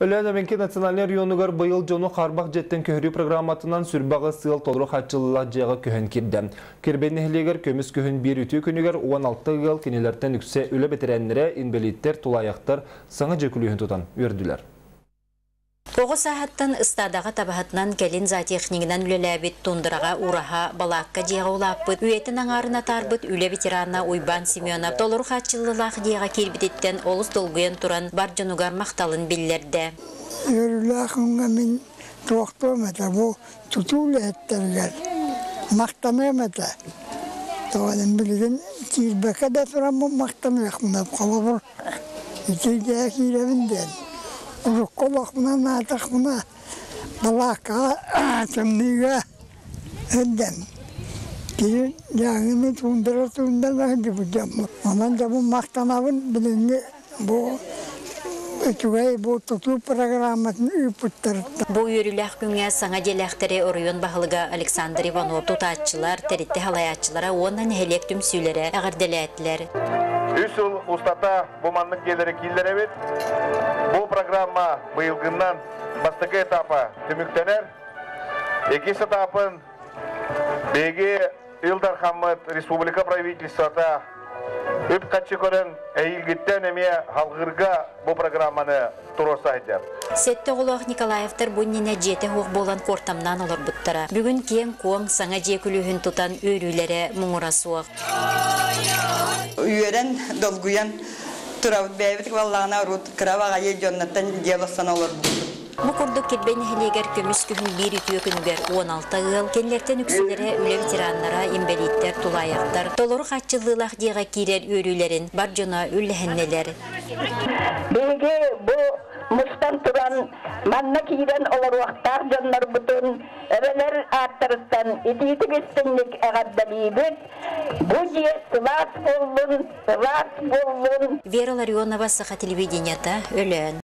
Өлөөн эбэҥки национальнай оройуонугар быйыл дьону хаарбах дьиэттэн көһөрүү программатынан 28 ыал толору хааччыллыылаах дьиэҕэ көһөн киирдэ. Кирбэй нэһилиэгэр көмүс күһүн биир үтүө күнүгэр 16 ыал, кинилэртэн үксэ үлэ бэтэрээннэрэ, инбэлииттэр, тулаайахтар саҥа дьиэ күлүүһүн тутан үөрдүлэр. Оҕо сааһыттан ыстаадаҕа табаһытынан, кэлин зоотехнигынан үлэлээбит, тундраҕа, ураһа, балаакка дьиэҕэ улааппыт, үйэтин аҥаарын атаарбыт үлэ ветерана Уйбаан Семенов толору хааччыллыылаах дьиэҕэ киирбититтэн олус долгуйан туран бар дьонугар махталын биллэрдэ. Үөрүүлээх күҥҥэ мин туохтуом этэ, бу тутуу үлэһиттэригэр махтаныам этэ. Тоҕо билигин киирбэккэ да тураммын махтаныахпын, холобур, ити дьиэ киирэбин диэн. Урукку олохпунан аатахпына балааккаҕа тымныыга сылдьан киһи дьааҥыны туундара туундара сылдьыбыт дьоммут. Онон дьоммун махтанабын билиҥҥи бу үчүгэй бу тутуу программатын ыыппыттарыттан. Бу үөрүүлээх күҥҥэ саҥа дьиэлээхтэри оройуон баһылыга Александр Иванов тутааччылар, тэрилтэ салайааччылара уонна нэһилиэк түмсүүлэрэ эҕэрдэлээтилэр. Үс сыл устата бу маннык дьиэлэри киллэрэбит. Бу программа быйылгыннан бастакы этапа түмүктэнэр. Иккис этапын биһиги Ил Дархаммыт республика правительствота үп-харчы көрөн эһиилгиттэн эмиэ халҕыырга бу программаны туруорса сылдьар. Сэттэ оҕолоох Николаевтар бу иннинэ дьиэтэ суох буолан куортамнаан олорбуттара. Бүгүн киэҥ-куоҥ саҥа дьиэ күлүүһүн тутан үөрүүлэрэ муҥура суох. Үөрэн, долгуйан турабыт. Бэйэбит баллаҕына урут кыра баҕайы дьоннортон дьиэ олорсон олорбуппут. Бу курдук Кирбэй нэһилиэгэр көмүс күһүн биир үтүө күнүгэр 16 ыал, кинилэртэн үксүлэрэ үлэ ветераннара, инбэлииттэр, тулаайахтар, толору хааччыллыылаах дьиэҕэ киирэр үөрүүлэрин бар дьоно үллэһиннилэр. Биһиги бу мустан туран манна киирэн олоруохтаах дьоннорбутун эбэлэр ааттарыттан итиитик истиҥник эҕэрдэлиибит. Бу дьиэ сылаас буоллун, сылаас буоллун. Вера Ларионова, Саха телевидениета, Өлөөн.